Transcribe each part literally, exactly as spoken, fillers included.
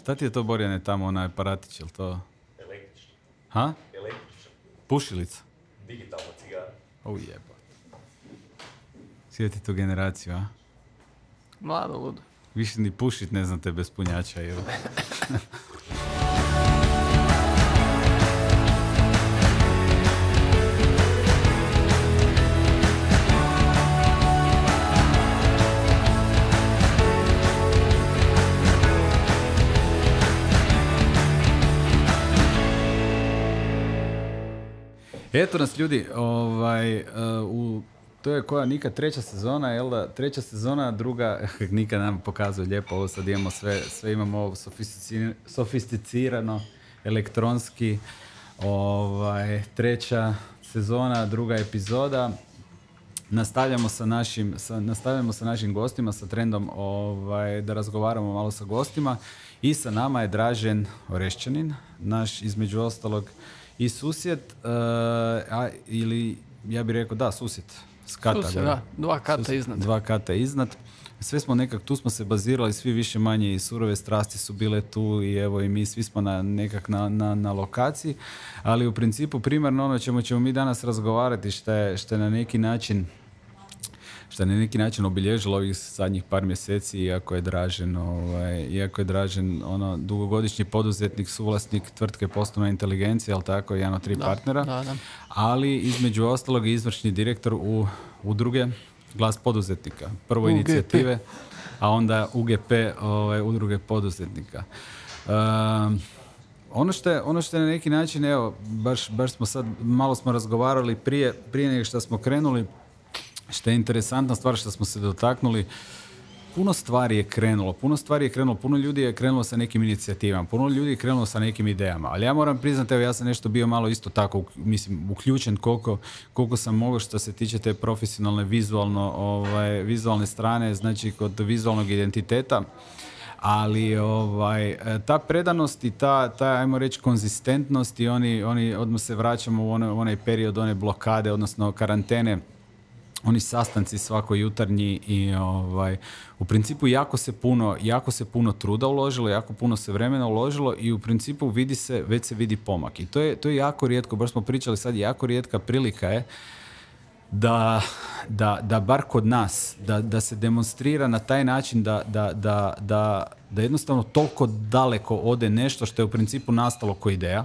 Šta ti je to, Borjane, tamo onaj aparatić, je li to? Električni. Ha? Električni. Pušilica? Digitalna cigara. O jeba. Sjeti tu generaciju, a? Mlado, ludo. Više ni pušit ne znate bez punjača, jel? Eto nas, ljudi, ovaj, uh, u, to je koja, Nika, treća sezona, jel da? Treća sezona, druga, Nika nam pokazuje lijepo, ovo sad imamo sve, sve imamo ovo sofisticirano, sofisticirano elektronski, ovaj, treća sezona, druga epizoda. Nastavljamo sa našim, sa, nastavljamo sa našim gostima, sa trendom ovaj, da razgovaramo malo sa gostima i sa nama je Dražen Orešćanin, naš između ostalog i susjed, uh, a, ili ja bih rekao da, susjed. Skata, susjed, da, dva kata susjed, iznad. Dva kata iznad. Sve smo nekak, tu smo se bazirali, svi više manje i surove strasti su bile tu i evo i mi svi smo na, nekak na, na, na lokaciji, ali u principu primarno ono čemu ćemo mi danas razgovarati što je, što je na neki način što je na neki način obilježilo ovih zadnjih par mjeseci, iako je Dražen, ovaj, iako je Dražen ono, dugogodišnji poduzetnik, suvlasnik tvrtke Poslovna inteligencija, ali tako, jedan od tri da, partnera, da, da. ali između ostalog i izvršni direktor u udruge Glas poduzetnika. Prvo U G P. inicijative, a onda U G P, ovaj, udruge poduzetnika. Um, Ono što, je, ono što je na neki način, evo, baš, baš smo sad, malo smo razgovarali prije, prije nego što smo krenuli, što je interesantna stvar što smo se dotaknuli, puno stvari je krenulo, puno stvari je krenulo, puno ljudi je krenulo sa nekim inicijativama, puno ljudi je krenulo sa nekim idejama, ali ja moram priznati, evo ja sam nešto bio malo isto tako, mislim, uključen koliko, koliko sam mogao što se tiče te profesionalne, vizualno, ovaj, vizualne strane, znači kod vizualnog identiteta. Ali ovaj, ta predanost i ta, ta ajmo reći, konzistentnost i oni, oni odmah se vraćamo u onaj, onaj period one blokade, odnosno karantene, oni sastanci svako jutarnji i ovaj, u principu jako se puno, jako se puno truda uložilo, jako puno se vremena uložilo i u principu vidi se, već se vidi pomak. I to je, to je jako rijetko, baš smo pričali sad, jako rijetka prilika je Da, da, da bar kod nas, da, da se demonstrira na taj način da, da, da, da, da jednostavno toliko daleko ode nešto što je u principu nastalo kao ideja,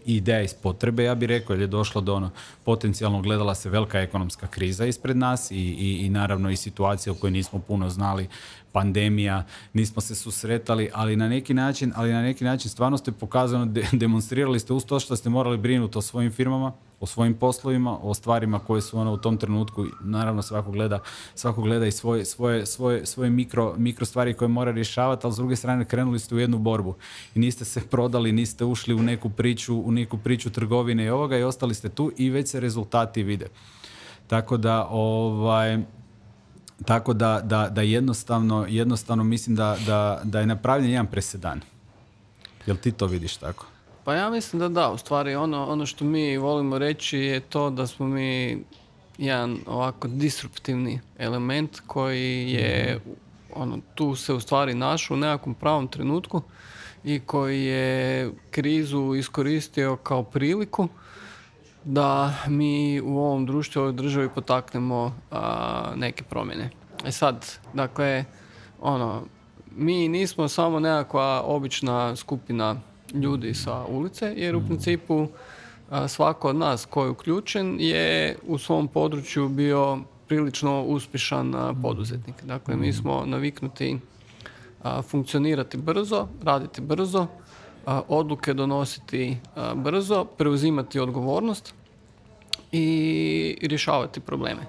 ideja iz potrebe, ja bih rekao, jer je došlo do ono, potencijalno gledala se velika ekonomska kriza ispred nas i, i, i naravno i situacija u kojoj nismo puno znali, pandemija, nismo se susretali, ali na neki način, ali na neki način stvarno ste pokazano, de, demonstrirali ste uz to što ste morali brinuti o svojim firmama, o svojim poslovima, o stvarima koje su ono u tom trenutku, naravno svako gleda, svako gleda i svoje, svoje, svoje, svoje mikro, mikro stvari koje mora rješavati, ali s druge strane krenuli ste u jednu borbu i niste se prodali, niste ušli u neku priču, u neku priču trgovine i ovoga i ostali ste tu i već se rezultati vide. Tako da, ovaj, tako da, da, da jednostavno, jednostavno mislim da, da, da je napravljen jedan presedan. Jel ti to vidiš tako? Pa ja mislim da da, u stvari ono, ono što mi volimo reći je to da smo mi jedan ovako disruptivni element koji je ono, tu se u stvari našao u nekakvom pravom trenutku i koji je krizu iskoristio kao priliku da mi u ovom društvu, u ovoj državi potaknemo a, neke promjene. E sad, dakle, ono, mi nismo samo nekakva obična skupina ljudi sa ulice, jer u principu a, svako od nas koji je uključen je u svom području bio prilično uspješan a, poduzetnik. Dakle, mi smo naviknuti a, funkcionirati brzo, raditi brzo, a, odluke donositi a, brzo, preuzimati odgovornost i rješavati probleme.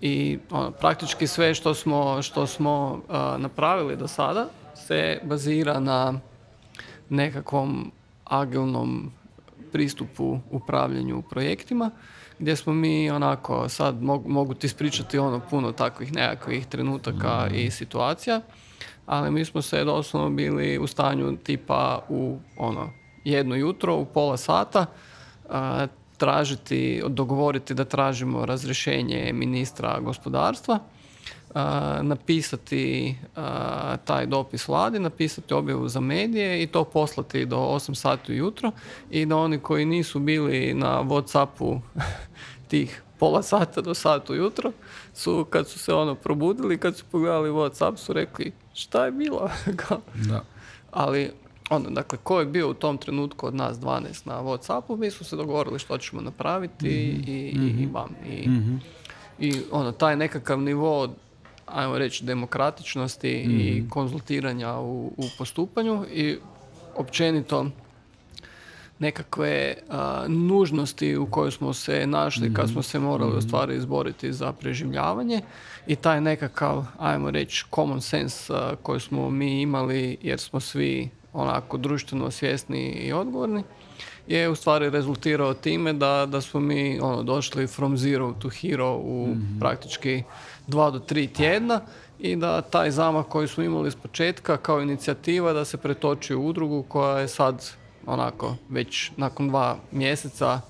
I ono, praktički sve što smo, što smo a, napravili do sada se bazira na nekakvom agilnom pristupu upravljanju projektima, gdje smo mi onako, sad mogu, mogu ti ispričati ono puno takvih nekakvih trenutaka mm. i situacija, ali mi smo se doslovno bili u stanju tipa u ono jedno jutro, u pola sata, a, tražiti, dogovoriti da tražimo razrješenje ministra gospodarstva, a, napisati a, taj dopis vladi, napisati objavu za medije i to poslati do osam sati ujutro i da oni koji nisu bili na WhatsAppu tih pola sata do sata ujutro su, kad su se ono probudili, kad su pogledali WhatsApp, su rekli šta je bilo? Da. Ali ono, dakle, ko je bio u tom trenutku od nas dvanaest na WhatsAppu, mi smo se dogovorili što ćemo napraviti mm-hmm. i, i, i bam. I, mm-hmm. i ono, taj nekakav nivo, ajmo reći, demokratičnosti mm-hmm. i konzultiranja u, u postupanju i općenito nekakve a, nužnosti u kojoj smo se našli mm-hmm. kad smo se morali u stvari izboriti za preživljavanje i taj nekakav, ajmo reći, common sense a, koji smo mi imali jer smo svi onako društveno svjesni i odgovorni, je u stvari rezultirao time da, da smo mi ono, došli from zero to hero u mm-hmm. praktički dva do tri tjedna i da taj zamah koji smo imali s početka kao inicijativa da se pretoči u udrugu koja je sad onako već nakon dva mjeseca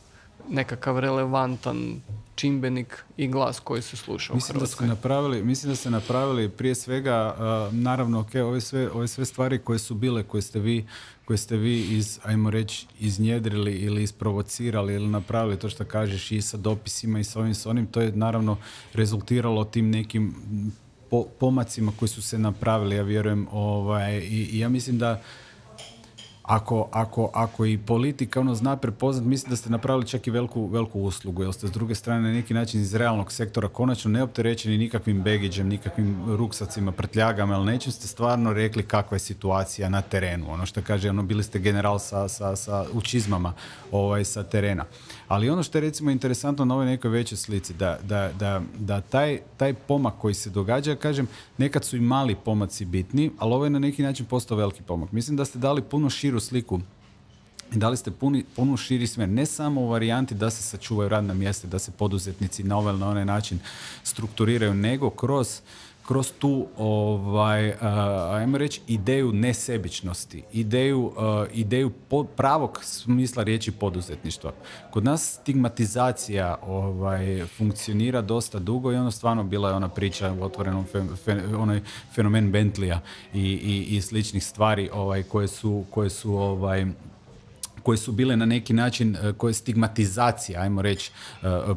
nekakav relevantan čimbenik i glas koji se sluša mislim u Hrvatskoj. Da ste napravili, mislim da ste napravili prije svega, uh, naravno, ok, ove sve, ove sve stvari koje su bile, koje ste vi, koje ste vi iz, ajmo reći, iznjedrili ili isprovocirali ili napravili to što kažeš i sa dopisima i sa ovim, sa onim, to je naravno rezultiralo tim nekim po, pomacima koji su se napravili, ja vjerujem, ovaj, i, i ja mislim da Ako, ako, ako i politika ono zna prepoznat, mislim da ste napravili čak i veliku, veliku uslugu, jer ste s druge strane na neki način iz realnog sektora konačno neopterećeni nikakvim begiđem, nikakvim ruksacima, prtljagama, ali nečim ste stvarno rekli kakva je situacija na terenu. Ono što kaže, ono, bili ste general sa, sa, sa u čizmama ovaj, sa terena. Ali ono što je recimo interesantno na ovoj nekoj većoj slici, da, da, da, da taj, taj pomak koji se događa, kažem, nekad su i mali pomaci bitni, ali ovo je na neki način postao veliki pomak. Mislim da ste dali puno širu sliku i dali ste puni, puno širi smjer, ne samo u varijanti da se sačuvaju radna mjesta, da se poduzetnici na ovaj na onaj način strukturiraju, nego kroz kroz tu, ovaj, uh, ajmo reći, ideju nesebičnosti, ideju, uh, ideju po, pravog smisla riječi poduzetništva. Kod nas stigmatizacija ovaj, funkcionira dosta dugo i ono stvarno bila je ona priča u otvorenom fe, fe, onaj fenomen Bentleya i, i, i sličnih stvari ovaj, koje su, koje su ovaj, koje su bile na neki način, koje je stigmatizacija, ajmo reći,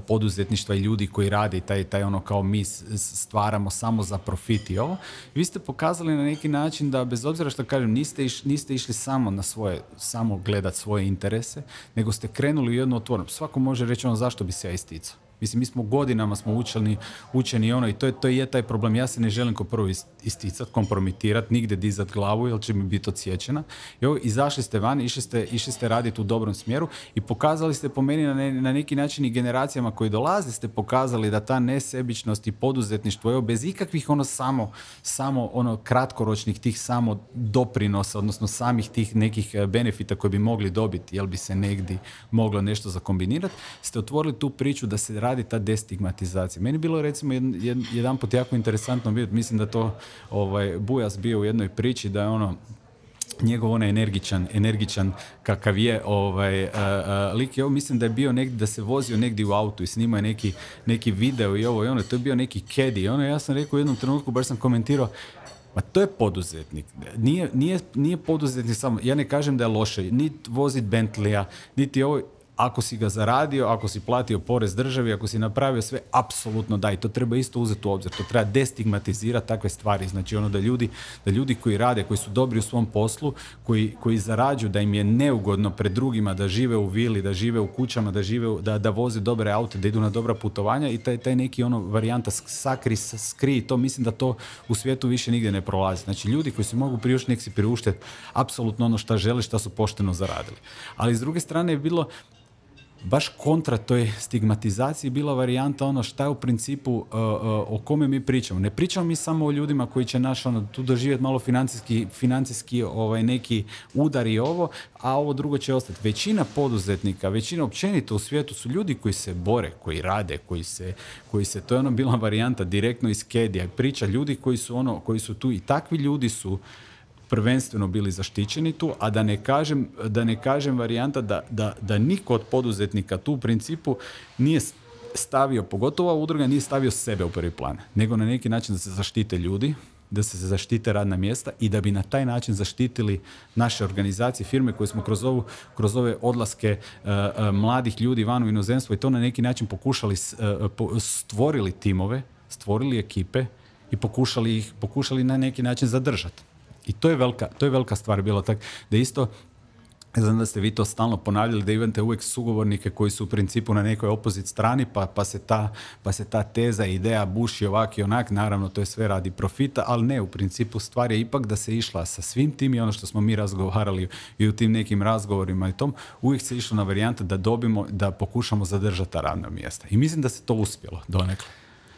poduzetništva i ljudi koji rade i taj, taj ono kao mi stvaramo samo za profit i ovo. Vi ste pokazali na neki način da bez obzira što kažem, niste, iš, niste išli samo na svoje, samo gledat svoje interese, nego ste krenuli u jedno otvoreno. Svako može reći ono zašto bi se ja isticao. Mislim, mi smo godinama smo učeni, učeni ono i to je, to je taj problem. Ja se ne želim ko prvo isticati, kompromitirati, nigdje dizat glavu jer će mi biti odsječena. I ovo, izašli ste van, išli ste, išli ste raditi u dobrom smjeru i pokazali ste po meni na, ne, na neki način i generacijama koji dolaze ste pokazali da ta nesebičnost i poduzetništvo, evo, bez ikakvih ono samo, samo ono kratkoročnih tih samo doprinosa, odnosno samih tih nekih benefita koje bi mogli dobiti, jel bi se negdje moglo nešto zakombinirati, ste otvorili tu priču da se radi ta destigmatizacija. Meni je bilo recimo jedan, jedan, jedan put jako interesantno vidjeti, mislim da to ovaj, Bujas bio u jednoj priči, da je ono njegov onaj energičan, energičan kakav je ovaj, uh, uh, lik je ovo, mislim da je bio negdje, da se vozio negdje u autu i snimao je neki, neki video i ovo i ono, to je bio neki caddy. Ono, ja sam rekao u jednom trenutku, baš sam komentirao, ma to je poduzetnik. Nije, nije, nije poduzetnik samo, ja ne kažem da je loše, niti vozit Bentleya, niti ovo, ako si ga zaradio, ako si platio porez državi, ako si napravio sve, apsolutno da, i to treba isto uzeti u obzir. To treba destigmatizirati takve stvari. Znači ono da ljudi, da ljudi koji rade, koji su dobri u svom poslu, koji, koji zarađuju, da im je neugodno pred drugima da žive u vili, da žive u kućama, da žive u, da, da voze dobre aute, da idu na dobra putovanja i taj, taj neki ono varijanta sakri, skri, to mislim da to u svijetu više nigdje ne prolazi. Znači ljudi koji se mogu priuštiti, nek si priuštiti apsolutno ono šta žele, šta su pošteno zaradili. Ali s druge strane je bilo baš kontra toj stigmatizaciji bila varijanta ono šta je u principu uh, uh, o kome mi pričamo. Ne pričamo mi samo o ljudima koji će naš ono tu doživjeti malo financijski, financijski ovaj, neki udar i ovo, a ovo drugo će ostati. Većina poduzetnika, većina općenito u svijetu su ljudi koji se bore, koji rade, koji se, koji se to je ono bila varijanta direktno iz Kedija. Priča ljudi koji su ono, koji su tu i takvi ljudi su prvenstveno bili zaštićeni tu, a da ne kažem, da ne kažem varijanta da, da, da niko od poduzetnika tu u principu nije stavio, pogotovo ova udruga nije stavio sebe u prvi plan, nego na neki način da se zaštite ljudi, da se zaštite radna mjesta i da bi na taj način zaštitili naše organizacije, firme koje smo kroz, ovu, kroz ove odlaske uh, uh, mladih ljudi van u inozemstvo i to na neki način pokušali, uh, po, stvorili timove, stvorili ekipe i pokušali ih pokušali na neki način zadržati. I to je velika, to je velika stvar bilo tak da isto. Znam da ste vi to stalno ponavljali, da imate uvijek sugovornike koji su u principu na nekoj opozit strani, pa, pa, se ta, pa se ta teza, ideja buši ovak i onak, naravno to je sve radi profita, ali ne, u principu stvar je ipak da se išla sa svim tim i ono što smo mi razgovarali i u tim nekim razgovorima i tom, uvijek se išlo na varijante da dobimo, da pokušamo zadržati ta radna mjesta. I mislim da se to uspjelo donekle.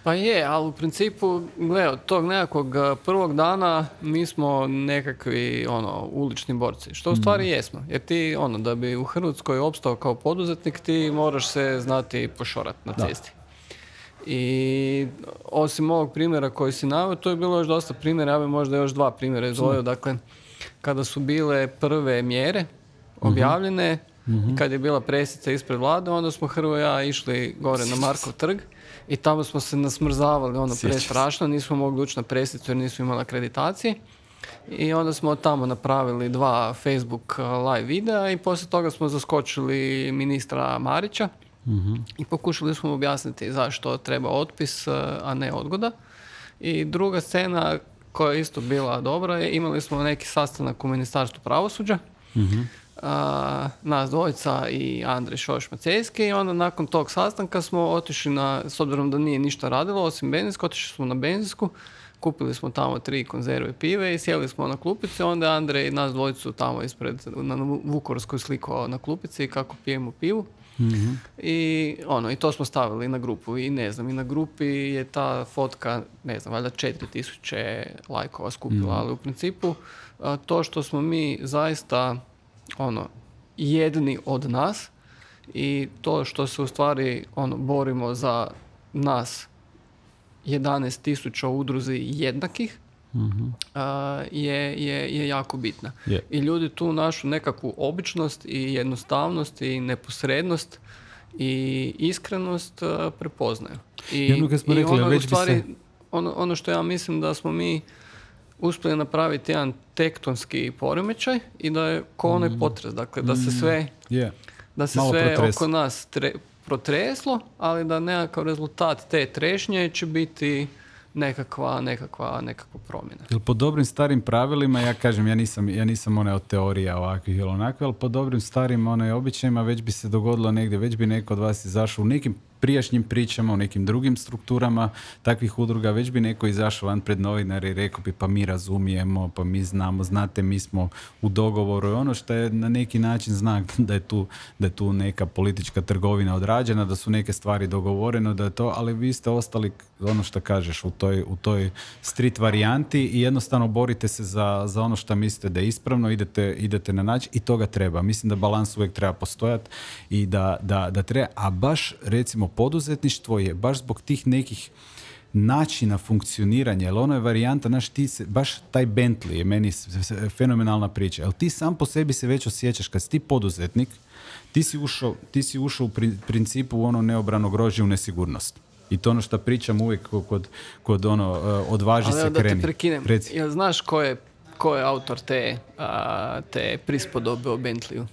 Pa je, ali u principu, gle, od tog nekakvog prvog dana mi smo nekakvi, ono, ulični borci. Što u stvari jesmo. Jer ti, ono, da bi u Hrvatskoj opstao kao poduzetnik, ti moraš se znati pošorati na cesti. Da. I osim ovog primjera koji si naveo, to je bilo još dosta primjera, ja bi možda još dva primjera izdvojio. Dakle, kada su bile prve mjere objavljene, mm-hmm. i kad je bila presica ispred vlade, onda smo Hrvo i ja išli gore na Markov trg. I tamo smo se nasmrzavali, ono, prestrašno, nismo mogli ući na presicu jer nismo imali akreditacije. I onda smo tamo napravili dva Facebook live videa i poslije toga smo zaskočili ministra Marića mm-hmm. i pokušali smo objasniti zašto treba otpis, a ne odgoda. I druga scena koja je isto bila dobra je, imali smo neki sastanak u Ministarstvu pravosuđa. Mm-hmm. Uh, nas dvojica i Andrej Šoš-Macejski i onda nakon tog sastanka smo otišli na, s obzirom da nije ništa radilo osim benzinsku, otišli smo na benzinsku, kupili smo tamo tri konzerve pive i sjeli smo na klupici, onda Andrej nas dvojicu tamo ispred na Vukovarskoj slikao na klupici kako pijemo pivu. Mm-hmm. I ono, i to smo stavili na grupu i ne znam, i na grupi je ta fotka, ne znam, valjda četiri tisuće lajkova skupila, mm-hmm. ali u principu a, to što smo mi zaista ono, jedni od nas i to što se u stvari ono, borimo za nas jedanaest tisuća udruzi jednakih mm-hmm. uh, je, je, je jako bitna. Yeah. I ljudi tu našu nekakvu običnost i jednostavnost i neposrednost i iskrenost uh, prepoznaju. I, Jedno kad smo i rekli, ono, već u stvari, bi se... ono, ono što ja mislim da smo mi uspjeli napraviti jedan tektonski poremećaj i da je ko onaj mm. potres, dakle da se sve, yeah. da se sve oko nas tre, protreslo, ali da nekakav rezultat te trešnje će biti nekakva, nekakva, nekakva promjena. Jel po dobrim starim pravilima, ja kažem, ja nisam, ja nisam one od teorija ovakvih ili onakve, ali po dobrim starim one običajima već bi se dogodilo negdje, već bi neko od vas izašao u nekim prijašnjim pričama, u nekim drugim strukturama takvih udruga, već bi neko izašao van pred novinare i rekao bi pa mi razumijemo, pa mi znamo, znate, mi smo u dogovoru i ono što je na neki način znak da je tu, da je tu neka politička trgovina odrađena, da su neke stvari dogovorene, da je to, ali vi ste ostali, ono što kažeš, u toj, u toj street varijanti i jednostavno borite se za, za ono što mislite da je ispravno, idete, idete na način i toga treba. Mislim da balans uvijek treba postojati i da, da, da treba, a baš recimo poduzetništvo je baš zbog tih nekih načina funkcioniranja, jer ono je varijanta, naš, ti se, baš taj Bentley je meni fenomenalna priča, jer ti sam po sebi se već osjećaš, kad si ti poduzetnik, ti si ušao, ti si ušao u principu u ono neobrano grožđe u nesigurnost. I to ono što pričam uvijek kod, kod ono, odvaži se, da kreni. Da te prekinem, jel znaš ko je, ko je autor te, a, te prispodobe o Bentleyu?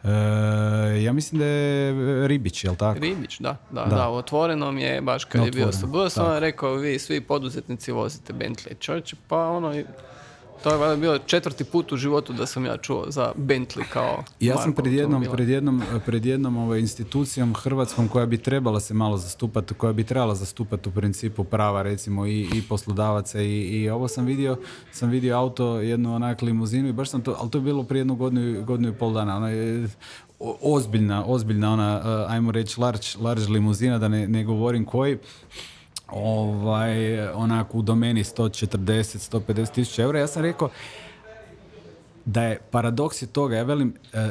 E, ja mislim da je Ribić, jel tako? Ribić, da. Da, da. da u Otvorenom je, baš kad no, je bio S B, sam vam rekao, vi svi poduzetnici vozite Bentley. Čovječe, pa ono, to je bilo četvrti put u životu da sam ja čuo za Bentley kao ja sam pred jednom, pred jednom, pred jednom ovaj, institucijom hrvatskom koja bi trebala se malo zastupati, koja bi trebala zastupati u principu prava recimo i, i poslodavaca i, i ovo sam vidio, sam vidio auto, jednu onak limuzinu i baš sam to, ali to je bilo prije jednu godinu, godinu i pol dana. Ona je ozbiljna, ozbiljna ona, ajmo reći, large, large limuzina, da ne, ne govorim koji. Ovaj, onako u domeni sto četrdeset do sto pedeset tisuća eura. Ja sam rekao da je paradoks je toga, ja velim, e,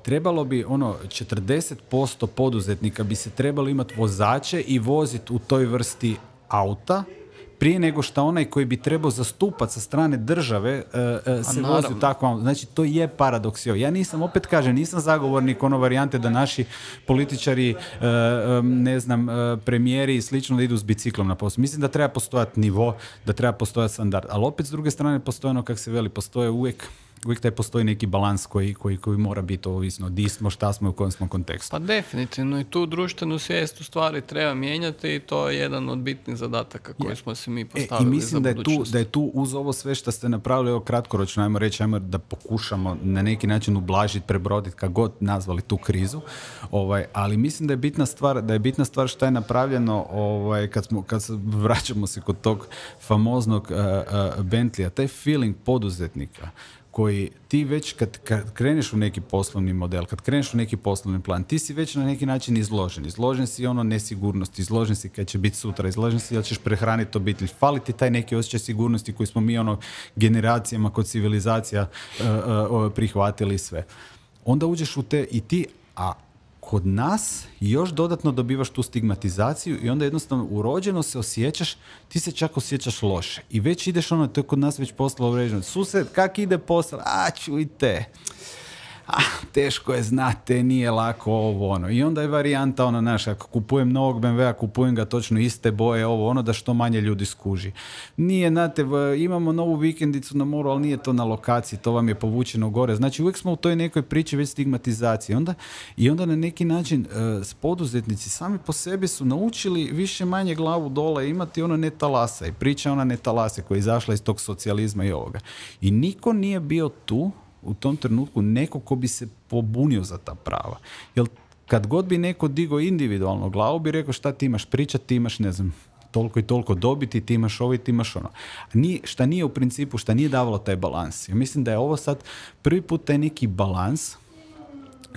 trebalo bi ono četrdeset posto poduzetnika bi se trebalo imati vozače i voziti u toj vrsti auta, prije nego što onaj koji bi trebao zastupati sa strane države uh, uh, se vozi u takvom. Znači, to je paradoks. Ja nisam, opet kažem, nisam zagovornik ono varijante da naši političari, uh, um, ne znam, uh, premijeri i slično da idu s biciklom na posao. Mislim da treba postojati nivo, da treba postojati standard. Ali opet s druge strane postoje ono, kak se veli, postoje uvijek uvijek taj postoji neki balans koji, koji, koji mora biti ovisno di smo, šta smo i u kojem smo kontekstu. Pa definitivno i tu društvenu svijest u stvari treba mijenjati i to je jedan od bitnih zadataka koji ja. smo se mi postavili. E, I mislim za da je, tu, da je tu uz ovo sve što ste napravili, evo kratkoročno, ajmo reći, ajmo da pokušamo na neki način ublažiti, prebroditi, kako god nazvali tu krizu, ovaj, ali mislim da je bitna stvar, da je bitna stvar šta je napravljeno, ovaj, kad, smo, kad se vraćamo se kod tog famoznog uh, uh, Bentleya, taj feeling poduzetnika, koji ti već kad, kad kreneš u neki poslovni model, kad kreneš u neki poslovni plan, ti si već na neki način izložen. Izložen si ono nesigurnosti, izložen si kad će biti sutra, izložen si da ćeš prehraniti obitelj. Fali ti taj neki osjećaj sigurnosti koji smo mi ono generacijama kod civilizacija uh, uh, prihvatili sve. Onda uđeš u te i ti, a kod nas još dodatno dobivaš tu stigmatizaciju i onda jednostavno urođeno se osjećaš, ti se čak osjećaš loše. I već ideš ono, to je kod nas već postalo uređeno. Sused, kak ide posao? A, čujte, ah, teško je, znate, nije lako ovo, ono. I onda je varijanta, ono, naš, ako kupujem novog be em ve a, kupujem ga točno iste boje, ovo, ono, da što manje ljudi skuži. Nije, znate, imamo novu vikendicu na moru, ali nije to na lokaciji, to vam je povučeno gore. Znači, uvijek smo u toj nekoj priči već stigmatizacije. Onda, I onda na neki način uh, poduzetnici sami po sebi su naučili više manje glavu dole imati ono ne talasa. I priča ona ne talase koja je izašla iz tog socijalizma i ovoga. I niko nije bio tu u tom trenutku neko ko bi se pobunio za ta prava. Jer kad god bi neko digao individualno glavu, bi rekao šta ti imaš pričati, ti imaš, ne znam, toliko i toliko dobiti, ti imaš ovo i ti imaš ono. Nije, šta nije u principu, šta nije davalo taj balans. Ja mislim da je ovo sad prvi put taj neki balans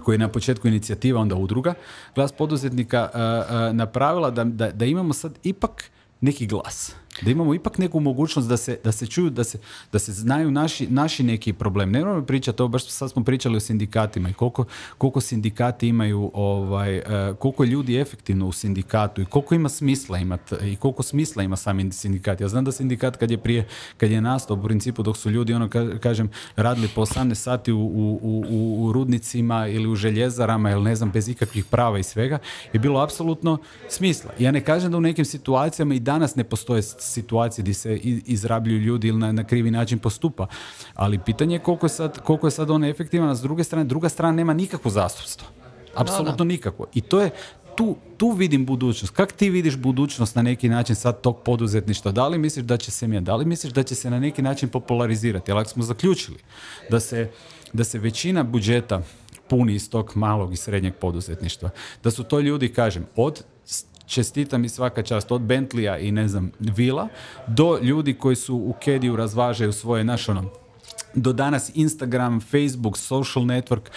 koji je na početku inicijativa, onda udruga, Glas poduzetnika uh, uh, napravila da, da, da imamo sad ipak neki glas. Da imamo ipak neku mogućnost da se, da se čuju, da se, da se znaju naši, naši neki problem. Ne moramo pričati, ovo baš sad smo pričali o sindikatima i koliko, koliko sindikati imaju, ovaj, uh, koliko ljudi je efektivno u sindikatu i koliko ima smisla imati i koliko smisla ima sami sindikat. Ja znam da sindikat kad je prije, kad je nastao u principu dok su ljudi, ono ka, kažem, radili po osamnaest sati u, u, u, u rudnicima ili u željezarama ili ne znam, bez ikakvih prava i svega, je bilo apsolutno smisla. Ja ne kažem da u nekim situacijama i danas ne postoje situacije gdje se izrabljuju ljudi ili na, na krivi način postupa. Ali pitanje je koliko je sad, koliko je sad on efektivan, a s druge strane, druga strana nema nikakvo zastupstvo. Apsolutno nikakvo. I to je, tu, tu vidim budućnost. Kako ti vidiš budućnost na neki način sad tog poduzetništva? Da li misliš da će se mijenjati? Da li misliš da će se na neki način popularizirati? Jer ako smo zaključili da se, da se većina budžeta puni iz tog malog i srednjeg poduzetništva, da su to ljudi, kažem, od čestitam i svaka čast, od Bentleya i ne znam, vila, do ljudi koji su u Kediju razvažaju svoje naš ono, do danas Instagram, Facebook, social network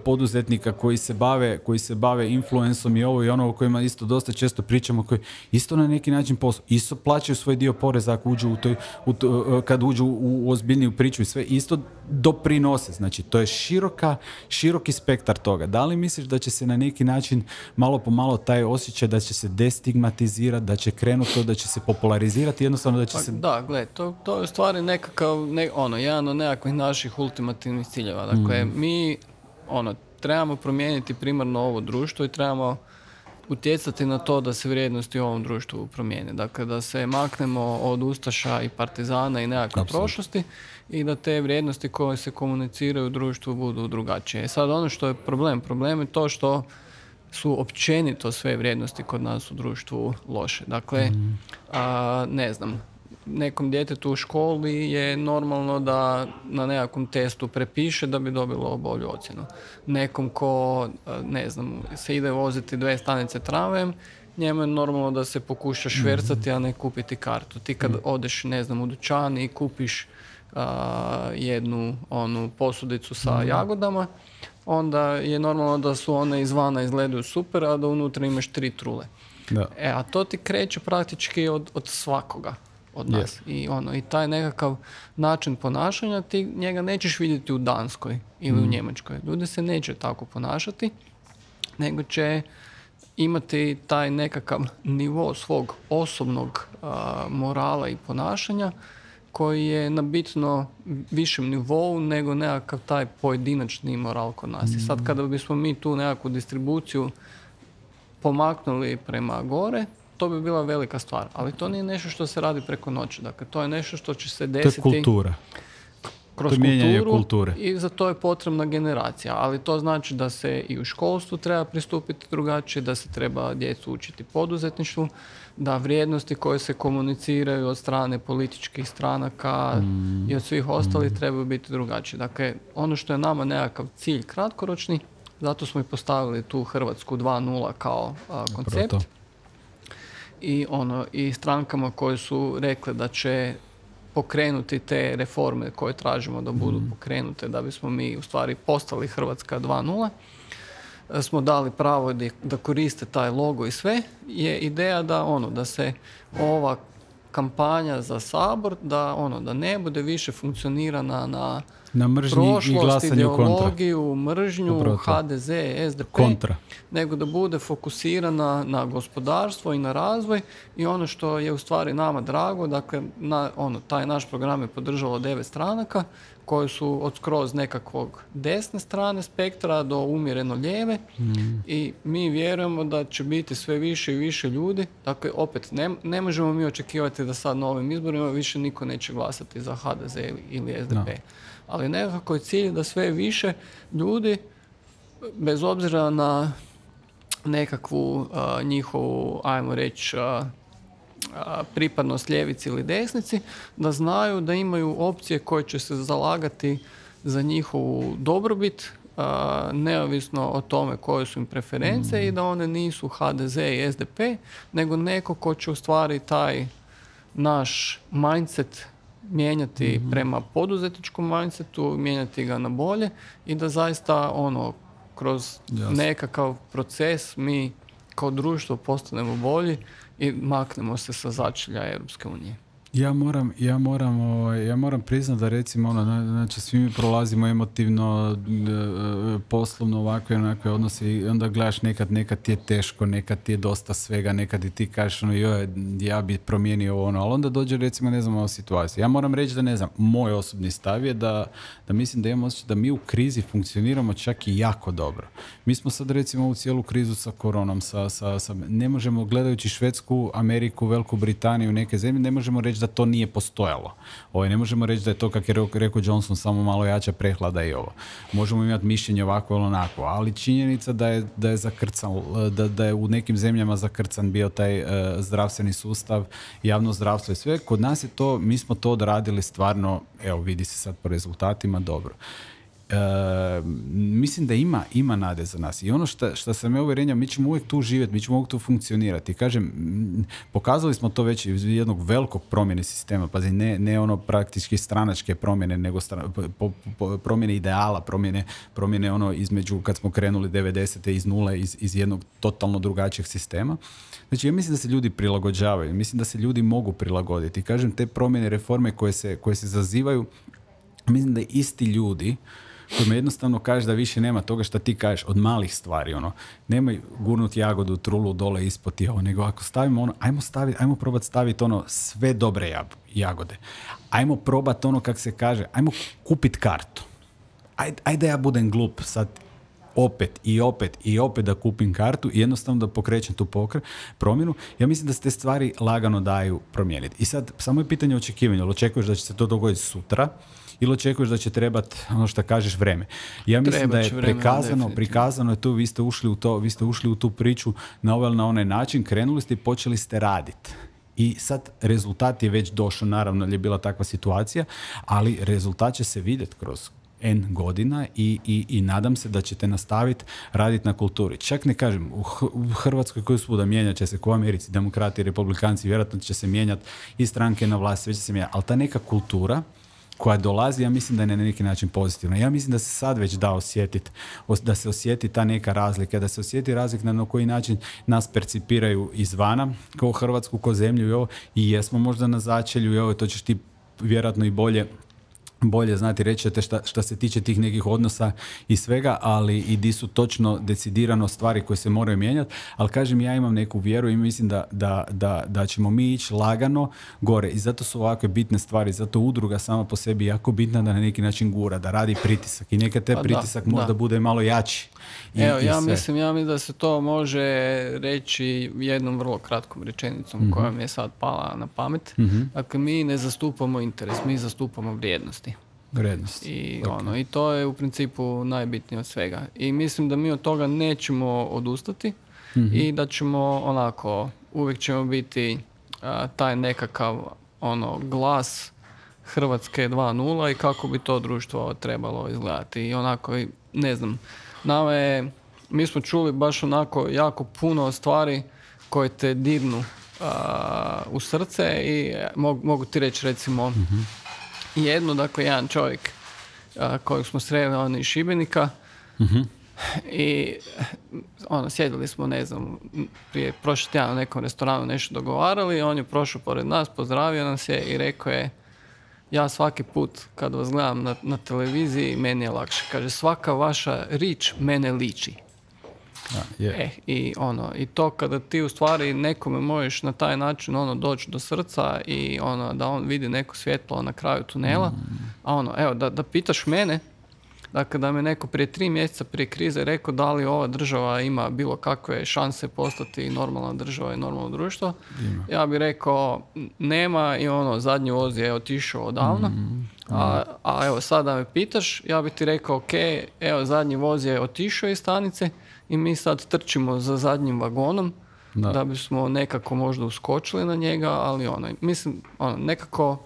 poduzetnika koji se bave, koji se bave influensom i ovo i ono o kojima isto dosta često pričamo, koji isto na neki način posao, isto plaćaju svoj dio poreza ako uđu u toj, u to, kad uđu u, u ozbiljniju priču i sve, isto doprinose. Znači, to je široka, široki spektar toga. Da li misliš da će se na neki način malo po malo taj osjećaj da će se destigmatizirati, da će krenuti to, da će se popularizirati, jednostavno da će pa, se... Da, gle, to, to je u stvari nekakav, ne, ono, jedan od nekakvih naših ultimativnih ciljeva. Dakle, mm. mi, ono, trebamo promijeniti primarno ovo društvo i trebamo utjecati na to da se vrijednosti u ovom društvu promijene. Dakle, da se maknemo od ustaša i partizana i nekakve prošlosti i da te vrijednosti koje se komuniciraju u društvu budu drugačije. Sad, ono što je problem, problem je to što su općenito sve vrijednosti kod nas u društvu loše. Dakle, mm. a, ne znam, nekom djetetu u školi je normalno da na nekakvom testu prepiše da bi dobilo bolju ocjenu. Nekom ko, ne znam, se ide voziti dve stanice tramvajem, njemu je normalno da se pokuša švercati, a ne kupiti kartu. Ti kad odeš, ne znam, u dućan i kupiš a, jednu onu posudicu sa jagodama, onda je normalno da su one izvana izgledaju super, a da unutra imaš tri trule. Da. E, a to ti kreće praktički od, od svakoga od nas. Yeah. I, ono, i taj nekakav način ponašanja, ti njega nećeš vidjeti u Danskoj ili mm. u Njemačkoj. Ljudi se neće tako ponašati, nego će imati taj nekakav nivo svog osobnog a, morala i ponašanja koji je na bitno višem nivou nego nekakav taj pojedinačni moral kod nas. I sad kada bismo mi tu nekakvu distribuciju pomaknuli prema gore, to bi bila velika stvar. Ali to nije nešto što se radi preko noći. Dakle, to je nešto što će se desiti... To je kultura. Kroz kulturu kulture. I za to je potrebna generacija. Ali to znači da se i u školstvu treba pristupiti drugačije, da se treba djecu učiti poduzetništvu, da vrijednosti koje se komuniciraju od strane političkih stranaka mm. i od svih ostalih mm. trebaju biti drugačije. Dakle, ono što je nama nekakav cilj kratkoročni, zato smo i postavili tu Hrvatsku dva nula kao a, koncept. Proto. I, ono, i strankama koje su rekle da će pokrenuti te reforme koje tražimo da budu mm. pokrenute da bismo mi u stvari postali Hrvatska dva nula, smo dali pravo da, da koriste taj logo i sve, je ideja da ono da se ova kampanja za Sabor da ono da ne bude više funkcionirana na na mržnji prošlost, i glasanju ideologiju, kontra. mržnju, Upravo. ha de ze, es de pe, kontra. nego da bude fokusirana na gospodarstvo i na razvoj i ono što je u stvari nama drago, dakle, na, ono, taj naš program je podržalo devet stranaka koje su od skroz nekakvog desne strane spektra do umjereno lijeve mm. i mi vjerujemo da će biti sve više i više ljudi. Dakle, opet, ne, ne možemo mi očekivati da sad na ovim izborima više niko neće glasati za ha de ze ili, ili es de pe. No. Ali nekako je cilj da sve više ljudi, bez obzira na nekakvu uh, njihovu, ajmo reći, uh, pripadnost ljevici ili desnici, da znaju da imaju opcije koje će se zalagati za njihovu dobrobit, a, neovisno o tome koje su im preference mm. i da one nisu ha de ze i es de pe, nego neko ko će u stvari taj naš mindset mijenjati mm. prema poduzetničkom mindsetu, mijenjati ga na bolje i da zaista ono, kroz Jasne. nekakav proces mi kao društvo postanemo bolji i maknemo se sa začelja Europske unije. Ja moram, ja moram, ja moram priznati da recimo ono, znači svi mi prolazimo emotivno, poslovno ovakve onakve odnose i onda gledaš nekad, nekad ti je teško, nekad ti je dosta svega, nekad i ti kažeš ono, joj, ja bi promijenio ono, ali onda dođe recimo ne znam ova situacija. Ja moram reći da ne znam, moj osobni stav je da, da mislim da imamo osjećaj da mi u krizi funkcioniramo čak i jako dobro. Mi smo sad recimo u cijelu krizu sa koronom, sa, sa, sa, ne možemo gledajući Švedsku, Ameriku, Veliku Britaniju, neke zemlje, ne možemo reći da to nije postojalo. Ovo, ne možemo reći da je to, kako je rekao Johnson, samo malo jača prehlada i ovo. Možemo imati mišljenje ovako ili onako, ali činjenica da je, da je zakrcan, da, da je u nekim zemljama zakrcan bio taj uh, zdravstveni sustav, javno zdravstvo i sve. Kod nas je to, mi smo to odradili stvarno, evo vidi se sad po rezultatima, dobro. Uh, mislim da ima, ima nade za nas i ono što, što sam ja uvjerenja, mi ćemo uvijek tu živjeti, mi ćemo uvijek tu funkcionirati. Kažem, pokazali smo to već iz jednog velikog promjene sistema, pazi, ne, ne ono praktički stranačke promjene, nego stra, po, po, promjene ideala, promjene, promjene ono između kad smo krenuli devedesete iz nule, iz, iz jednog totalno drugačijeg sistema. Znači, ja mislim da se ljudi prilagođavaju, mislim da se ljudi mogu prilagoditi. Kažem, te promjene, reforme koje se, koje se zazivaju, mislim da isti ljudi kojima jednostavno kažeš da više nema toga što ti kažeš od malih stvari, ono, nemoj gurnuti jagodu, trulu dole ispod i ovo, nego ako stavimo ono, ajmo staviti, ajmo probati staviti ono sve dobre jab, jagode. Ajmo probati ono kak se kaže, ajmo kupiti kartu. Ajde, ajde ja budem glup sad opet i opet i opet da kupim kartu i jednostavno da pokrećem tu pokre, promjenu. Ja mislim da se te stvari lagano daju promijeniti. I sad, samo je pitanje očekivanja. Ili očekuješ da će se to dogoditi sutra ili očekuješ da će trebati, ono što kažeš, vreme. Ja mislim Treba da je prikazano, prikazano je tu, vi ste ušli u to, vi ste ušli u tu priču na ovaj na onaj način, krenuli ste i počeli ste raditi. I sad rezultat je već došao, naravno je bila takva situacija, ali rezultat će se vidjeti kroz N godina i, i, i nadam se da ćete nastaviti raditi na kulturi. Čak ne kažem, u, H- u Hrvatskoj koju svuda mijenjat će se, ko u Americi, demokrati, republikanci, vjerojatno će se mijenjati i stranke na vlasti, sve će se mijenjati, ali ta neka kultura koja dolazi, ja mislim da je na neki način pozitivna. Ja mislim da se sad već da osjetiti, da se osjeti ta neka razlika, da se osjeti razlika na koji način nas percipiraju izvana, kao Hrvatsku, kao zemlju i ovo, i jesmo možda na začelju i ovo, to ćeš ti vjerojatno i bolje bolje znati reći šta, šta se tiče tih nekih odnosa i svega, ali i di su točno decidirano stvari koje se moraju mijenjati, ali kažem, ja imam neku vjeru i mislim da, da, da, da ćemo mi ići lagano gore i zato su ovakve bitne stvari, zato udruga sama po sebi jako bitna da na neki način gura, da radi pritisak i neka te Pa pritisak da, možda da. bude malo jači. I, Evo, i ja sve. mislim, ja mislim da se to može reći jednom vrlo kratkom rečenicom Mhm. koja mi je sad pala na pamet. Mhm. Dakle, mi ne zastupamo interes, mi zastupamo vrijednosti. Vrednost. I, Ok. ono, I to je u principu najbitnije od svega. I mislim da mi od toga nećemo odustati Mhm. i da ćemo onako, uvijek ćemo biti a, taj nekakav ono glas Hrvatske dva nula i kako bi to društvo trebalo izgledati. I onako, i ne znam, nama je, mi smo čuli baš onako jako puno stvari koje te dirnu a, u srce i mogu, mogu ti reći recimo jedno, dakle jedan čovjek a, kojeg smo sreli, on iz Šibenika, Mhm. i ono, sjedili smo, ne znam, prije prošli tjedan u nekom restoranu nešto dogovarali, on je prošao pored nas, pozdravio nas je i rekao je, ja svaki put kad vas gledam na, na televiziji, meni je lakše. Kaže, svaka vaša rič mene liči. Da, je. E, i ono, i to kada ti u stvari nekome možeš na taj način ono doći do srca i ono da on vidi neko svjetlo na kraju tunela, a ono, evo, da, da pitaš mene, dakle da me neko prije tri mjeseca prije krize rekao da li ova država ima bilo kakve šanse postati normalna država i normalno društvo, Ima. ja bih rekao nema i ono, zadnji voz je otišao odavno, a, a evo sad da me pitaš, ja bih ti rekao ok, evo zadnji voz je otišao iz stanice i mi sad trčimo za zadnjim vagonom Da. da, bismo nekako možda uskočili na njega, ali ono, mislim, ono, nekako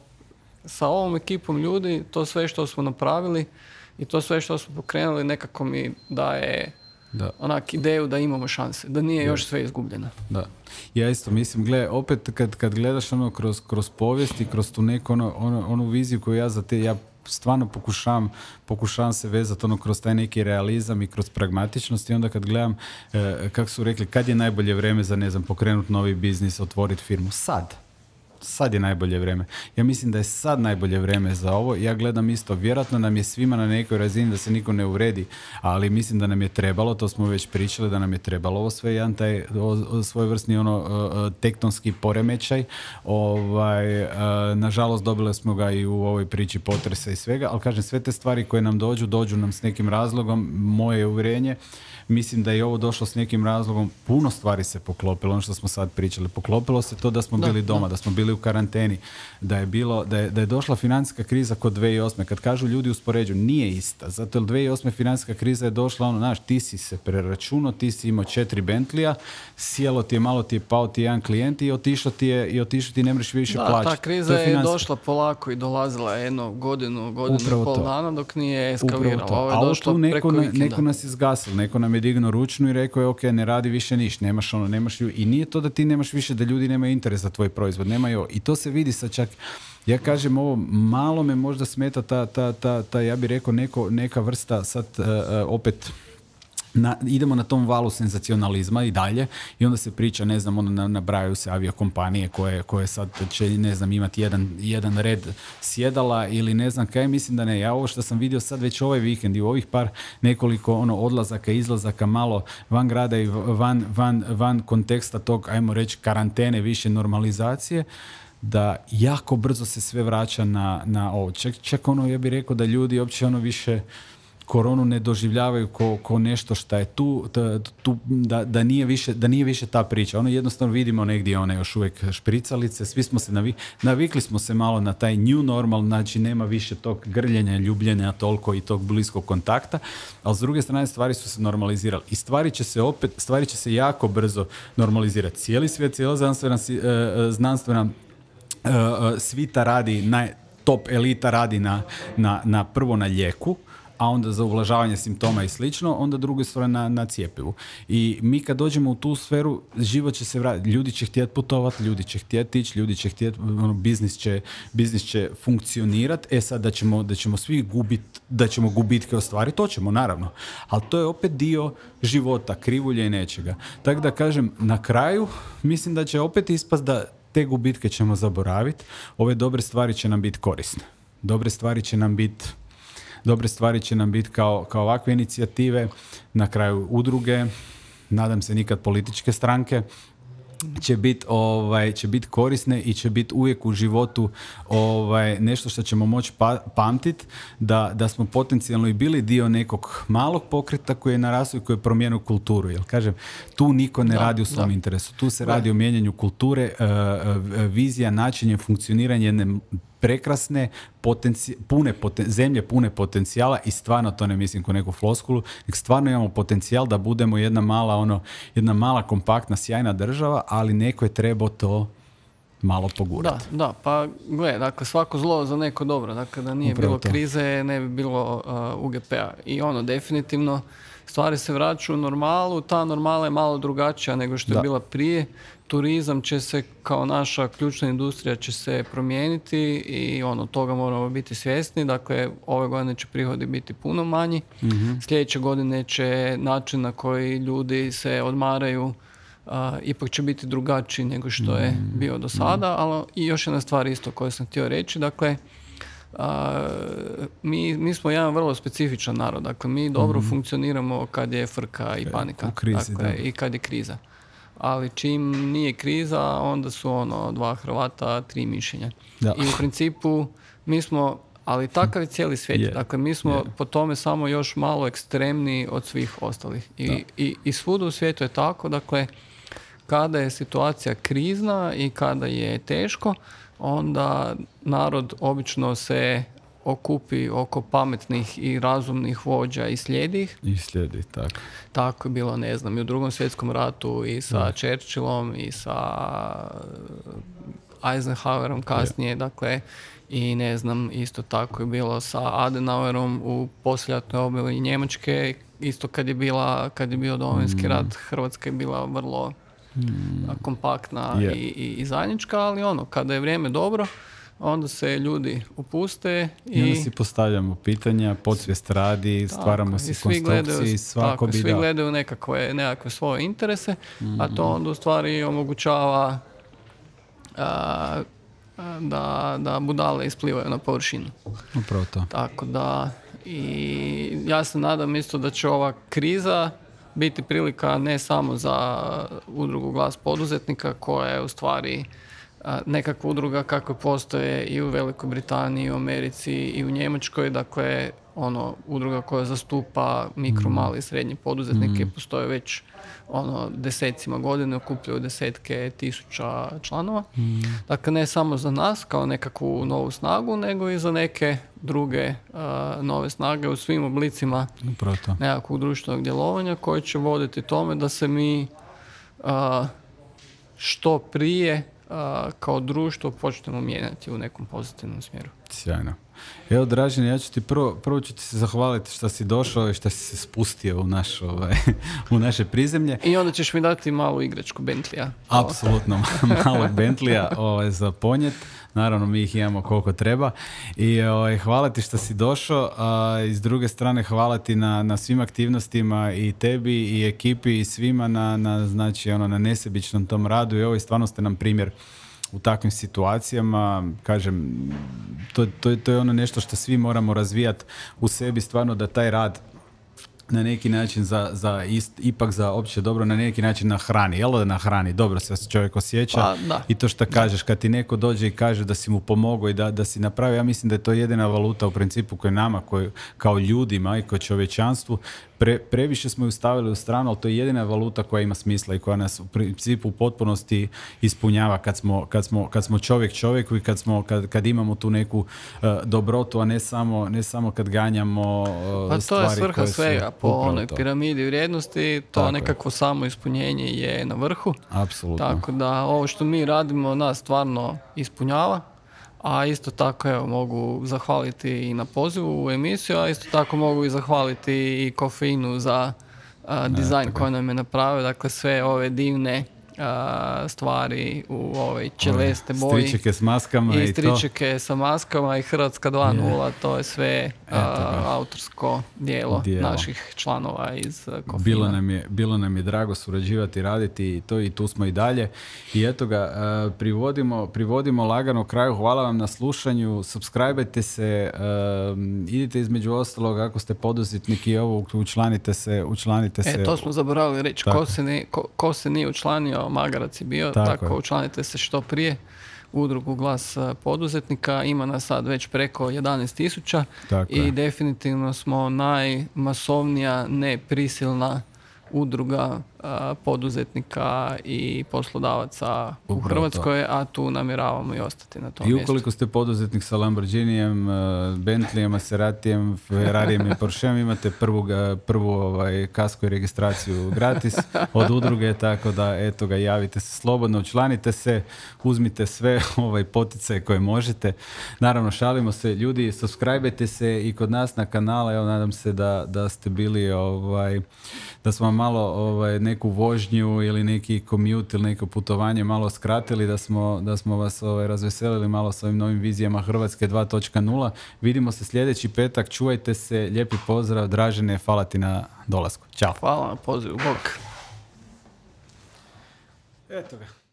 sa ovom ekipom ljudi, to sve što smo napravili i to sve što smo pokrenuli nekako mi daje Da. onak ideju da imamo šanse, da nije još sve izgubljeno. Da. Ja isto mislim, gle, opet kad, kad gledaš ono kroz, kroz povijest i kroz tu neku ono, ono, onu viziju koju ja za te, ja stvarno pokušavam, pokušavam se vezati ono kroz taj neki realizam i kroz pragmatičnost i onda kad gledam, e, kako su rekli, kad je najbolje vrijeme za, ne znam, pokrenuti novi biznis, otvoriti firmu? Sad. Sad je najbolje vrijeme. Ja mislim da je sad najbolje vrijeme za ovo. Ja gledam isto, vjerojatno nam je svima na nekoj razini da se niko ne uvredi, ali mislim da nam je trebalo, to smo već pričali, da nam je trebalo ovo sve, jedan taj o, o, svojevrsni ono o, o, tektonski poremećaj. Ovaj, e, nažalost dobili smo ga i u ovoj priči potresa i svega, ali kažem, sve te stvari koje nam dođu, dođu nam s nekim razlogom, moje uvjerenje. Mislim da je ovo došlo s nekim razlogom, puno stvari se poklopilo, ono što smo sad pričali. Poklopilo se to da smo Da, bili doma, da. da smo bili u karanteni, da je bilo, da je, da je došla financijska kriza kod dvije tisuće osme. Kad kažu ljudi uspoređuju, nije ista. Zato jer dvije tisuće osme financijska kriza je došla, ono, znaš, ti si se preračunao, ti si imao četiri Bentlija, sjelo ti je, malo ti je pao ti jedan klijent i otišlo ti je, i otišlo ti ne možeš više Da, plaćati. ta kriza To je, financijska- došla polako i dolazila jednu godinu, godinu Upravo i pol to. dana dok nije Upravo eskalirala. to. Ovo je A ovo došlo tu neko, preko na- vikenda. neko nas je zgasilo, neko nam je dignuo ručnu i rekao je ok, ne radi više ništa, nemaš ono, nemaš lju- i nije to da ti nemaš više, da ljudi nemaju interes za tvoj proizvod, nemaju, i to se vidi sad čak, ja kažem ovo, malo me možda smeta ta, ta, ta, ta ja bih rekao neko, neka vrsta sad uh, uh, opet Na, idemo na tom valu senzacionalizma i dalje i onda se priča, ne znam, ono, na- nabrajaju se aviokompanije koje, koje sad će, ne znam, imati jedan, jedan red sjedala ili ne znam kaj, mislim da ne. Ja ovo što sam vidio sad već ovaj vikend i u ovih par nekoliko ono odlazaka, izlazaka malo van grada i van, van, van konteksta tog, ajmo reći, karantene, više normalizacije, da jako brzo se sve vraća na, na ovo. Čak, čak ono, ja bih rekao da ljudi uopće ono više koronu ne doživljavaju ko, ko nešto što je tu, t- tu da, da, nije više, da nije više ta priča. Ono jednostavno vidimo negdje one još uvijek špricalice, svi smo se navikli, navikli smo se malo na taj new normal, znači nema više tog grljenja, ljubljenja toliko i tog bliskog kontakta, ali s druge strane stvari su se normalizirali i stvari će se opet, stvari će se jako brzo normalizirati. Cijeli svijet, cijela znanstvena, si- e, e, znanstvena e, e, svita radi, naj, top elita radi na, na, na prvo na lijeku, a onda za ublažavanje simptoma i slično, onda druga stvar na, na cijepivu. I mi kad dođemo u tu sferu, život će se vratiti. Ljudi će htjeti putovati, ljudi će htjeti ići, ljudi će htjeti, ono, biznis će, biznis će funkcionirati. E sad da ćemo, da ćemo svi gubiti, da ćemo gubitke ostvariti, to ćemo naravno. Ali to je opet dio života, krivulje i nečega. Tako da kažem, na kraju mislim da će opet ispast da te gubitke ćemo zaboraviti, ove dobre stvari će nam biti korisne. Dobre stvari će nam biti dobre stvari će nam biti kao, kao ovakve inicijative, na kraju udruge, nadam se nikad političke stranke, će biti ovaj, će biti korisne i će biti uvijek u životu ovaj, nešto što ćemo moći pa, pamtiti, da, da smo potencijalno i bili dio nekog malog pokreta koji je narastao i koji je promijenio kulturu. Jer kažem, tu niko ne da, radi u svom da. interesu. Tu se Da. radi o mijenjanju kulture, uh, vizija, načinje funkcioniranja jedne prekrasne, potenci- pune poten- zemlje pune potencijala i stvarno to ne mislim ko neku floskulu, nek stvarno imamo potencijal da budemo jedna mala, ono, jedna mala kompaktna, sjajna država, ali neko je trebao to malo pogurati. Da, da, pa gle, dakle svako zlo za neko dobro, dakle da nije Upravo bilo to. krize ne bi bilo uh, U G P-a i ono definitivno stvari se vraćaju u normalu, ta normala je malo drugačija nego što je Da. bila prije, turizam će se kao naša ključna industrija će se promijeniti i ono toga moramo biti svjesni, dakle ove godine će prihodi biti puno manji, Mhm. sljedeće godine će način na koji ljudi se odmaraju Uh, ipak će biti drugačiji nego što je bio do sada, ali i još jedna stvar isto koju sam htio reći, dakle uh, mi, mi smo jedan vrlo specifičan narod, dakle mi dobro funkcioniramo kad je frka i panika, u krizi, dakle, da. i kad je kriza. Ali čim nije kriza, onda su ono dva Hrvata, tri mišljenja. Da. I u principu mi smo, ali takav je cijeli svijet. Je, Dakle, mi smo je. po tome samo još malo ekstremniji od svih ostalih. I, i, i svuda u svijetu je tako, dakle, kada je situacija krizna i kada je teško, onda narod obično se okupi oko pametnih i razumnih vođa i slijedi ih. I slijedi, tako. Tako je bilo, ne znam, i u Drugom svjetskom ratu i sa Churchillom i sa Eisenhowerom kasnije, dakle, i ne znam, isto tako je bilo sa Adenauerom u poslijeratnoj obnovi Njemačke, isto kad je bila, kad je bio Domovinski rat, Hrvatska je bila vrlo a, kompaktna Je. i, i, i zajednička, ali ono, kada je vrijeme dobro, onda se ljudi upuste I i, onda si postavljamo pitanja, podsvijest radi, stvaramo tako, si i svi gledaju, konstrukcije i svako tako, bi svi da. gledaju nekakve, nekakve svoje interese, a to onda u stvari omogućava a, a, da, da budale isplivaju na površinu. Upravo to. Tako da, i ja se nadam isto da će ova kriza biti prilika ne samo za udrugu Glas poduzetnika, koja je u stvari a, nekakva udruga kakve postoje i u Velikoj Britaniji, i u Americi, i u Njemačkoj, dakle, ono, udruga koja zastupa mikro, mali i srednji poduzetnike, postoje već ono, desecima godine, okupljaju desetke tisuća članova. Dakle, ne samo za nas kao nekakvu novu snagu, nego i za neke druge a, nove snage u svim oblicima Upravo to. nekakvog društvenog djelovanja koje će voditi tome da se mi a, što prije a, kao društvo počnemo mijenjati u nekom pozitivnom smjeru. Sjajno. Evo, Dražen, ja ću ti prvo, prvo ću ti se zahvaliti što si došao i što si se spustio u, naš, ovaj, u naše prizemlje. I onda ćeš mi dati malu igračku Bentleya. Apsolutno malog Bentleya ovaj, za ponjet. Naravno, mi ih imamo koliko treba. I ovaj, hvala ti što si došao. A, i s druge strane, hvala ti na, na svim aktivnostima i tebi i ekipi i svima na, na, znači, ono, na nesebičnom tom radu. I ovo stvarno ste nam primjer u takvim situacijama. Kažem, to, to, to je ono nešto što svi moramo razvijati u sebi, stvarno da taj rad na neki način za, za ist, ipak za opće dobro, na neki način nahrani. Jel da nahrani? Dobro se čovjek osjeća. Pa, da. I to što kažeš, kad ti neko dođe i kaže da si mu pomogao i da, da si napravio, ja mislim da je to jedina valuta u principu koja nama, koji, kao ljudima i kao čovječanstvu, pre, previše smo ju stavili u stranu, ali to je jedina valuta koja ima smisla i koja nas u principu u potpunosti ispunjava kad smo, kad smo, kad smo čovjek čovjeku i kad, smo, kad, kad imamo tu neku uh, dobrotu, a ne samo, ne samo kad ganjamo uh, Pa to stvari je svrha koje su svega, po upravo onoj to. piramidi vrijednosti, to Tako je. nekakvo samo ispunjenje je na vrhu. Apsolutno. Tako da ovo što mi radimo nas stvarno ispunjava, a isto tako evo, mogu zahvaliti i na pozivu u emisiju, a isto tako mogu i zahvaliti i Kofeinu za a, dizajn koji nam je napravio, dakle sve ove divne a, stvari u ovoj čeleste Ove, boji. Stričeke s maskama i, I stričeke sa maskama i Hrvatska dva nula, to je sve a, autorsko dijelo, Dijelo. naših članova iz uh, Kofina. Bilo nam, je, bilo nam je drago surađivati, raditi i to i tu smo i dalje. I eto ga, uh, privodimo, privodimo lagano kraju. Hvala vam na slušanju. Subscribe-ajte se, uh, idite između ostalog ako ste poduzetnik i ovo, učlanite se, učlanite se. E, to smo zaboravili reći. Ko se, ne, ko, ko se nije učlanio, magarac je bio, tako, tako učlanite se što prije. Udrugu Glas poduzetnika, ima nas sad već preko jedanaest tisuća i je. definitivno smo najmasovnija neprisilna udruga a, poduzetnika i poslodavaca u Upravo Hrvatskoj, to. A tu namjeravamo i ostati na tom I mjestu. ukoliko ste poduzetnik sa Lamborghinijem, Bentleyjem, Maseratijem, Ferrarijem i Porscheom, imate prvu, prvu ovaj, kasko i registraciju gratis od udruge, tako da eto ga, javite se slobodno, učlanite se, uzmite sve ovaj, poticaje koje možete. Naravno, šalimo se, ljudi, subscribe-ajte se i kod nas na kanala, evo, nadam se da, da ste bili, ovaj, da smo malo ovaj, neku vožnju ili neki commute ili neko putovanje malo skratili, da smo, da smo vas ovaj, razveselili malo s ovim novim vizijama Hrvatske dva točka nula. Vidimo se sljedeći petak, čuvajte se, lijepi pozdrav, Dražene, hvala ti na dolasku. Ćao. Hvala na pozivu, bok. Eto ga.